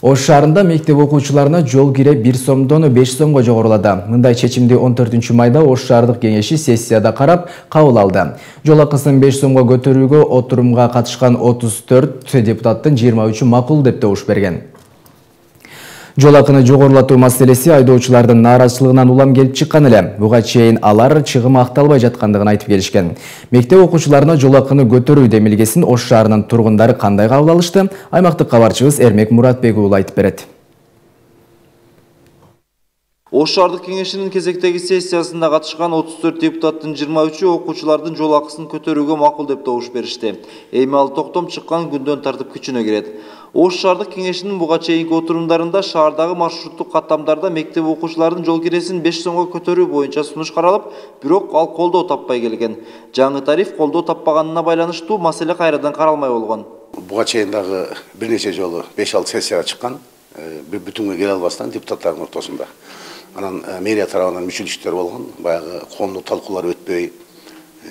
Ош шаарында мектеп окуучуларына жол кире 1 сомдон 5 сомго жогорулады. Мындай чечимди 14 майда Ош шаардык кеңеши сессияда карап кабыл алды. Жол акысын 5 сомго көтөрүүгө отурумга катышкан 34 депутаттын 23-ü макул деп добуш берген. Жол акыны жогорулатуу маселеси айдоочулардын нааразычылыгынан улам келип чыккан эле. Буга чейин алар чыгым акталбай жаткандыгын айтып келишкен. Мектеп окуучуларына жол акыны көтөрүү демилгесин Ош шаарынын тургундары кандай кабыл алышты? Аймактык кабарчыбыз Эрмек Муратбек уулу айтып берет. Ош шаардык кеңешинин кезектеги сессиясында катышкан 34 депутаттын 23-ü окуучулардын жол акысын көтөрүүгө макул деп добуш беришти. Эми ал токтом чыккан күндөн тартып күчүнө кирет. Ош шаардык кеңешинин буга чейинки отурумдарында шаардагы маршруттук каттамдарда мектеп окуучуларынын жол киресин 5 сомго көтөрүү боюнча сунуш каралып, бирок ал колдоо таппай келген. Жаңы тариф колдоо таппаганына байланыштуу маселе кайрадан каралмай болгон. Буга чейин дагы бир нече жолу 5-6 сессияга чыккан, бир бүтүнгө келе албастан депутаттардын ортосунда. Анан мэрия тарабынан мүчүлүктөр болгон, баягы коомдук талкуулар өтпөй,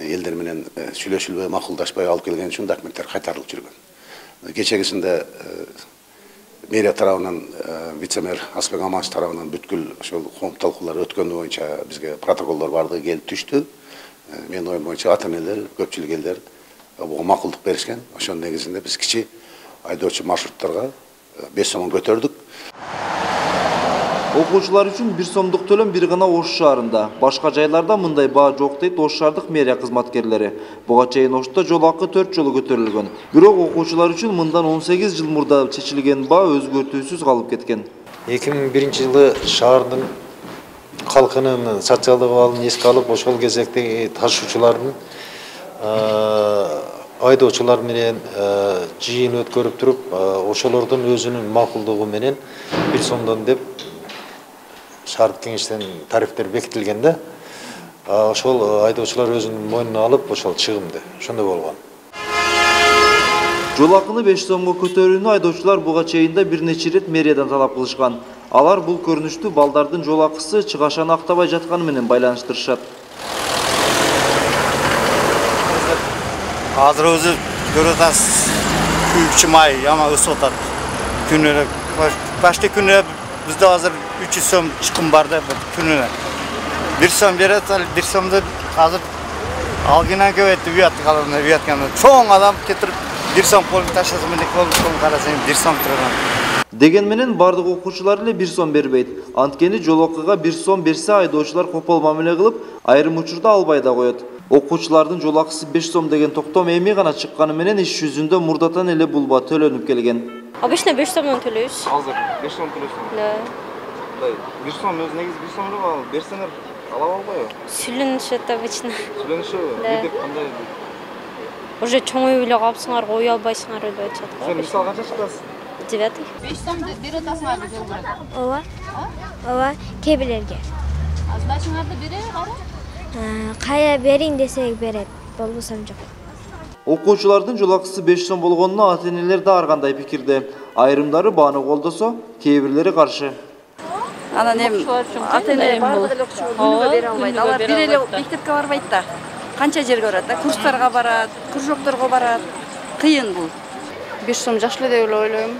элдер менен сүйлөшүлбөй, макулдашпай алып келген үчүн документтер кайтарылып жүргөн. Кечегисинде мэрия тарабынан вице-мэр Асбек Аманович тарабынан бүткүл ошол коомдук талкуулар өткөнү боюнча бизге протоколдор бардыгы келип түштү. Менин оюм боюнча ата-энелер, көпчүлүк элдер буга макулдук беришкен. Ошонун негизинде биз кичи айдоочу маршрутторго 5 сом көтөрдүк. Окуучулар үчүн 1 сомдук төлөм бир гана Ош шаарында. Башка жайларда мындай баа жок дейт Ош шаардык мэрия кызматкерлери. Буга чейин Ошто жол акы 4 жолу көтөрүлгөн. Бирок окуучулар үчүн мындан 18 жыл мурда чечилген баа өзгөртүүсүз калып кеткен. 2001-жылы шаардын калкынын социалдык абалын эске алып, ошол кезекте ташуучулардын айдоочулар менен жыйын өткөрүп туруп, ошолордун өзүнүн макулдугу менен 1 сомдон деп шаардык кеңештен тарифтер бекитилгенде, ошол айдоочулар өзүнүн мойнуна алып, ошол чыгымды. Ошондой болгон. Жол акыны 5 сомго көтөрүүнү айдоочулар буга чейинде бир нече рет мэриядан талап кылышкан. Алар бул көрүнүштү балдардын жол акысы чыгашаны актабай жатканы менен байланыштырышат. Азыр өзү көрүп атасыз, күйүүчү май жама өсүп атат. Күнүнө башка күнүнө бизде азыр 300 сом чыкым бар да күнүнө. 1 сом берет, 1 сомду азыр алгынан көбөйтүп уятканда чоң адам кетирип 1 сом колун таштаса менен колун карасаң 1 сом турган. Деген менен бардык окуучулар эле 1 сом бербейт. Анткени жол акыга 1 сом берсе айдоочулар копол мамиле кылып, айрым учурда албай да коет. Окуучулардын жол акысы 5 сом деген токтом эми гана чыкканы менен иш жүзүндө мурдатан эле бул баа төлөнүп келген. Обычно 5 сомдон төлөйбүз. Азыр 5 сом төлөйсүз. Да. 1 сом өз негизи 1 сом эле берсеңер ала албайбы? Сүйлөнүшөт обычно. Сүйлөнүшөбү? Бирдек кандай? Уже чоңоюп эле калыпсыңар, кое албайсыңар деп айтышат го. Сен мисал канча чыктасың? 9. 5 сом бере атасыңар жол көрөт. Ооба. Ооба, кээ бирлерге. Сдачаңарды бере кара? Кая берин десек берет, болбосо жок. Окуучулардын жол акысы 5 сом болгонуна ата-энелер да ар кандай пикирде. Айрымдары бааны колдосо, кээ бирлери каршы. Анан эми ата-эне баардык эле окуучу күнүгө бере албайт. Алар бир эле мектепке барбайт да. Канча жерге барат да, курстарга барат, кружокторго барат. Кыйын бул. 5 сом жакшы эле деп ойлойм.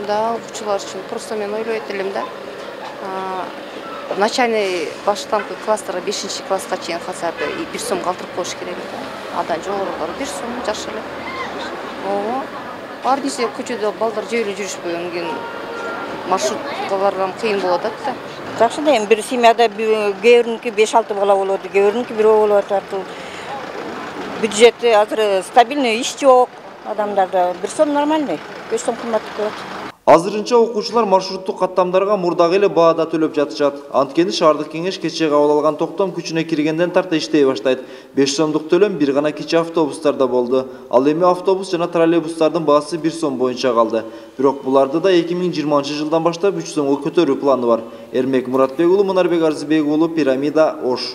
Да, окуучулар үчүн. Просто мен ойлойт элем да. Начальный баштапкы класстарга 5-класска чейин хотя бы 1 сом калтырып коюш керек да. Андан жогорулары 1 сом жакшы эле. Ооба. Ар нерсе көчөдө балдар жөө жүрүшпөгөн кийин маршрутка барган кыйын болуп атат да. Жакшы да эми бир семьяда кээбириники 5-6 бала болот, кээбириники 1 болуп атат. Бюджети азыр стабильный, иш жок. Адамдарда 1 сом нормальный, 5 сом кымбаттуу болот. Азырынча окуучулар маршруттук каттамдарга мурдагы эле баада төлөп жатышат. Анткени шаардык кеңеш кечээ кабыл алган токтом күчүнө киргенден тарта иштей баштайт. 5 сомдук төлөм бир гана кичи автобустарда болду. Ал эми автобус жана троллейбустардын баасы 1 сом боюнча калды. Бирок буларды да 2020-жылдан баштап 3 сомго көтөрүү планы бар. Эрмек Муратбек уулу, Мунарбек Арзыбек уулу, Пирамида, Ош.